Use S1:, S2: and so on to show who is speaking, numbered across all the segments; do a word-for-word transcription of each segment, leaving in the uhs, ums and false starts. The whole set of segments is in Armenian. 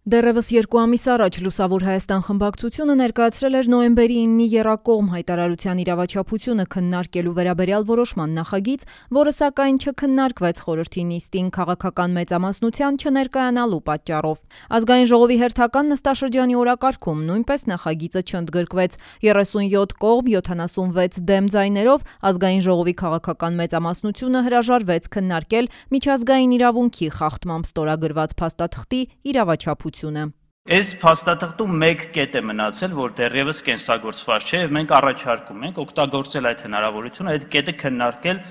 S1: Դեռևս երկու ամիս առաջ Լուսավոր Հայաստան խմբակցությունը ներկայացրել էր նոյեմբերի իննի եռակողմ հայտարարության իրավաչափությունը քննարկելու վերաբերյալ որոշման նախագիծ, որը սակայն չքննարկվեց խորհրդի նիստին քաղաքական մեծամասնության չներկայանալու պատճառով։ Ազգային ժողովի հերթական նստաշրջանի օրակարգում նույնպես նախագիծը չընդգրկվեց։ երեսունյոթ կողմ յոթանասունվեց դեմ ձայներով Ազգային ժողովի քաղաքական մեծամասնությունը հրաժարվեց քննարկել միջազգային իրավունքի խախտմամբ ստորագրված փաստաթղթի իրավաչափությունը։
S2: Այս փաստաթղթում մեկ կետ է մնացել, որ դեռևս կենսագործված չէ, եւ մենք առաջարկում ենք օգտագործել այդ հնարավորությունը, այդ կետը քննարկել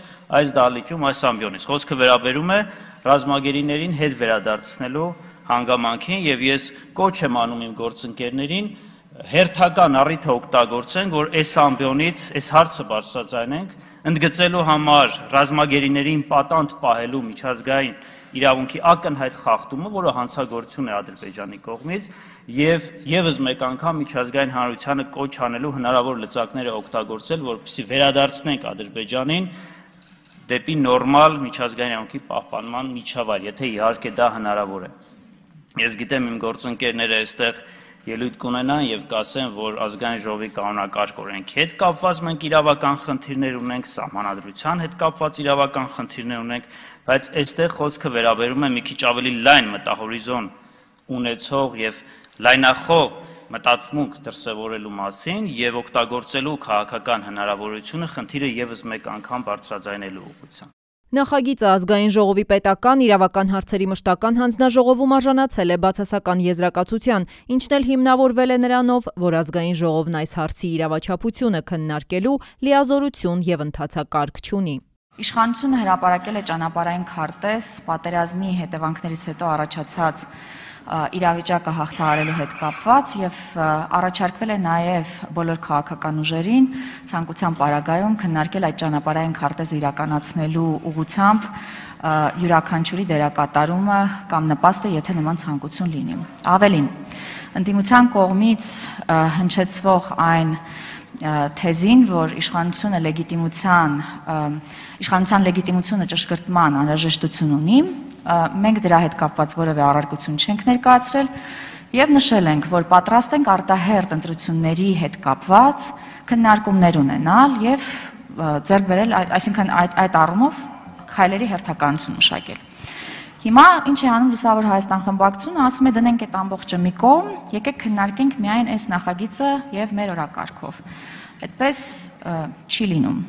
S2: այս դահլիճում, այս ամբիոնից։ Խոսքը վերաբերում է ռազմագերիներին հետ վերադարձնելու հանգամանքին, եւ ես կոչ եմ անում իմ գործընկերներին հերթական առիթը օգտագործեն, որ այս ամբիոնից այս հարցը բարձրաձայնենք, ընդգծելու համար ռազմագերիներին պատանդ պահելու միջազգային իրավունքի ակնհայտ խախտումը, որը հանցագործություն է Ադրբեջանի կողմից, եւ եւս մեկ անգամ միջազգային հանրությանը կոչ անելու հնարավոր լծակները օգտագործել, որպեսզի վերադարձնենք Ադրբեջանին դեպի նորմալ միջազգային իրավունքի պահպանման միջավայր, եթե իհարկե դա հնարավոր է։ Ես գիտեմ իմ գործընկերները այստեղ ելույթ կունենան եւ կասեն, որ ազգային ժողովի կանոնակարգ օրենքի հետ կապված մենք իրավական խնդիրներ ունենք, սահմանադրության հետ կապված իրավական խնդիրներ ունենք, բայց այստեղ խոսքը վերաբերում է մի քիչ ավելի լայն մտահորիզոն ունեցող եւ լայնախոհ մտածմունք դրսևորելու մասին եւ օգտագործելու քաղաքական հնարավորությունը խնդիրը եւս մեկ անգամ բարձրաձայնելու ուղղությամբ։
S1: Նախագիծը Ազգային ժողովի պետական իրավական հարցերի մշտական հանձնաժողովում արժանացել է բացասական եզրակացության, ինչն էլ հիմնավորվել է նրանով, որ Ազգային ժողովն այս հարցի իրավաչափությունը քննարկելու լիազորություն եւ ընթացակարգ չունի։
S3: Իշխանությունը հրապարակել է ճանապարհային քարտեզ պատերազմի հետևանքներից հետո առաջացած իրավիճակը հաղթահարելու հետ կապված եւ առաջարկվել է նաեւ բոլոր քաղաքական ուժերին ցանկության պարագայում քննարկել այդ ճանապարհային քարտեզը իրականացնելու ուղղությամբ յուրաքանչյուրի դերակատարումը կամ նպաստը, եթե նման ցանկություն լինի։ Ավելին, ընդդիմության կողմից հնչեցվող այն թեզին, որ իշխանությունը լեգիտիմության իշխանության լեգիտիմությունը ճշգրտման անհրաժեշտություն ունի, մենք դրա հետ կապված որևէ առարկություն չենք ներկայացրել եւ նշել ենք, որ պատրաստ ենք արտահերթ ընտրությունների հետ կապված քննարկումներ ունենալ եւ ձեռք բերել, այսինքն այդ այդ առումով քայլերի հերթականություն մշակել։ Հիմա ինչ է անում Լուսավոր Հայաստան խմբակցությունը, ասում է դնենք այդ ամբողջը մի կողմ, եկեք քննարկենք միայն այս նախագիծը եւ մեր օրակարգով։ Այդպես չի լինում։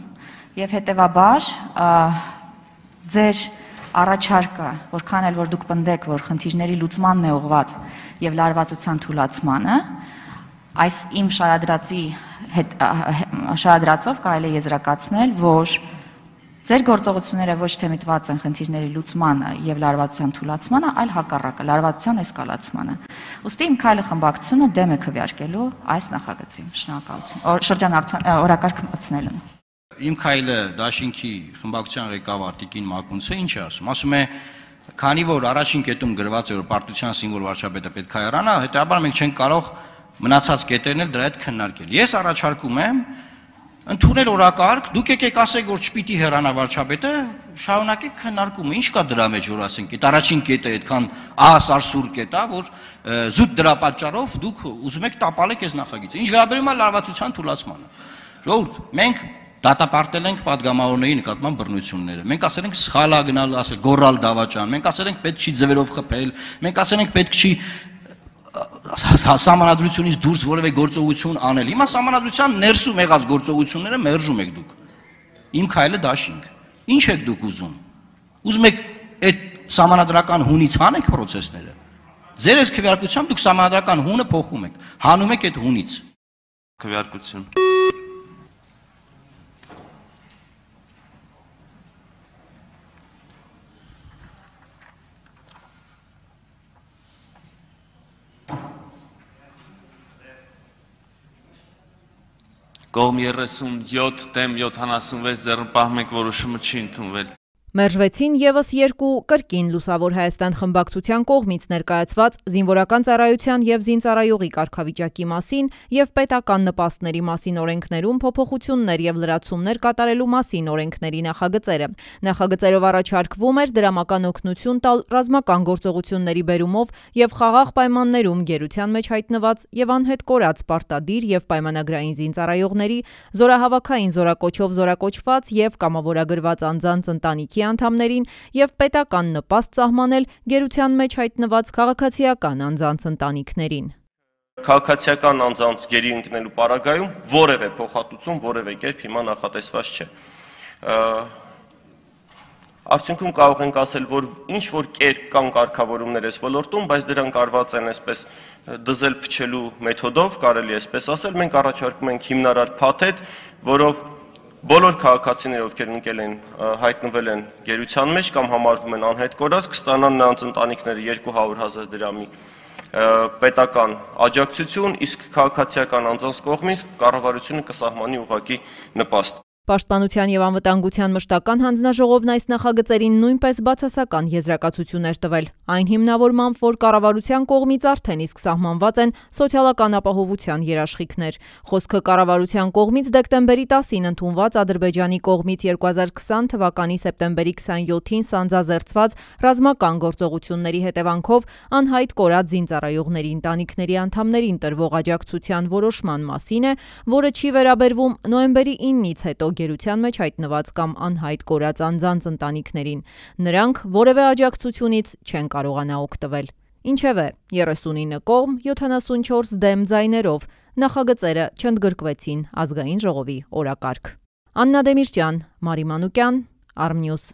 S3: Եվ հետեւաբար ձեր առաջարկը, որքան էլ որ դուք պնդեք, որ խնդիրների լուծմանն է ուղղված եւ լարվածության թուլացմանը, այս իմ շարադրածի հետ շարադրածով կարելի է եզրակացնել, որ ձեր գործողությունները ոչ թե միտված են խնդիրների լուծմանը եւ լարվածության թուլացմանը, այլ հակառակը, լարվածության էսկալացմանը։ Ոստի իմ քայլը խմբակցությունը դեմ է քվեարկելու այս նախագծին։ Շնորհակալություն։ Շրջանառության օրակարգ մտցնելուն։
S4: Իմ քայլը դաշինքի խմբակցության ղեկավար Տիկին Մակունցը ինչ է ասում։ Ասում է, քանի որ առաջին կետում գրված է, որ պարտության սիմվոլ վարչապետը պետք է հեռանա, հետեւաբար մենք չենք կարող մնացած կետերն էլ դրա հետ քննարկել։ Ես առաջարկում եմ ընդունել օրակարգ, դուք եկեք ասեք, որ չպիտի հեռանա վարչապետը, շարունակեք քննարկումը, ինչ կա դրա մեջ, որ ասենք, այդ առաջին կետը այդքան ահասարսուր կետ է, որ զուտ դրա պատճառով դուք ուզում եք տապալեք այս նախագիծը։ Ինչ վերաբերում է լարվածության թուլացմանը։ Ժողովուրդ, մենք դատապարտել ենք падգամավորների նկատմամբ բռնությունները։ Մենք ասել ենք սխալ է գնալ, ասել գոռալ դավաճան, մենք ասել ենք պետք չի ձևերով խփել, մենք ասել ենք պետք չի սահմանադրությունից դուրս որևէ գործողություն անել։ Հիմա սահմանադրության ներսում եղած գործողությունները մերժում եք դուք։ Իմ քայլը դաշինք։ Ինչ եք դուք ուզում։ Ուզում եք այդ սահմանադրական հունից հանեք process-ները։ Ձեր այս քվեարկությամբ դուք սահմանադրական հունը փոխում եք, հանում եք այդ հունից։
S5: Քվեարկություն։ Կողմ երեսունյոթ դեմ յոթանասունվեց ձեռնպահ մեկ որոշումը չի ընդունվել։
S1: Մերժվեցին ևս երկու կրկին Լուսավոր Հայաստան խմբակցության կողմից ներկայացված զինվորական ծառայության եւ զինծառայողի կարգավիճակի մասին եւ պետական նպաստների մասին օրենքներում փոփոխություններ եւ լրացումներ կատարելու մասին օրենքների նախագծերը։ Նախագծերով առաջարկվում էր դրամական օգնություն տալ ռազմական գործողությունների բերումով եւ խաղաղ պայմաններում գերության մեջ հայտնված եւ անհետ կորած պարտադիր եւ պայմանագրային զինծառայողների, զորահավաքային զորակոչով զորակոչված եւ կամավորագրված անձանց ընտանիքի անդամներին եւ պետական նպաստ սահմանել գերության մեջ հայտնված քաղաքացիական անձանց ընտանիքներին։
S6: Քաղաքացիական անձանց գերի ընկնելու պարագայում որևէ փոխհատուցում որևէ կերպ հիմա նախատեսված չէ։ Արդյունքում կարող ենք ասել, որ ինչ որ կերպ կան կարգավորումներ այս ոլորտում, բայց դրանք արված են այսպես դզել փչելու մեթոդով, կարելի է այսպես ասել, մենք առաջարկում ենք հիմնարար փաթեթ, որով բոլոր քաղաքացիները, ովքեր ընկել են, հայտնվել են գերության մեջ կամ համարվում են անհետ կորած, կստանան նրանց ընտանիքները երկու հարյուր հազար դրամի պետական աջակցություն, իսկ քաղաքացիական անձանց կողմից կառավարությունը կսահմանի ուղղակի նպաստ։
S1: Պաշտպանության եւ անվտանգության մշտական հանձնաժողովն այս նախագծերին նույնպես բացասական եզրակացություններ տվել, այն հիմնավորմամբ, որ կառավարության կողմից արդեն իսկ սահմանված են սոցիալական ապահովության երաշխիքներ։ Խոսքը կառավարության կողմից դեկտեմբերի տասին ընդունված Ադրբեջանի կողմից երկու հազար քսան թվականի սեպտեմբերի քսանյոթին սանձազերծված ռազմական գործողությունների հետևանքով անհայտ կորած զինծառայողների ընտանիքների անդամներին տրվող աջակցության որոշման մասին է, որը չի վերաբերվում նոյեմբերի իննից հետո գերության մեջ հայտնված կամ անհայտ կորած անձանց ընտանիքներին։ Նրանք որևէ աջակցությունից չեն կարողանա օգտվել։ Ինչևէ, երեսունինը կողմ, յոթանասունչորս դեմ ձայներով նախագծերը չընդգրկվեցին ազգային ժողովի օրակարգ։ Աննա Դեմիրճյան, Մարի Մանուկյան, Արմնյուզ։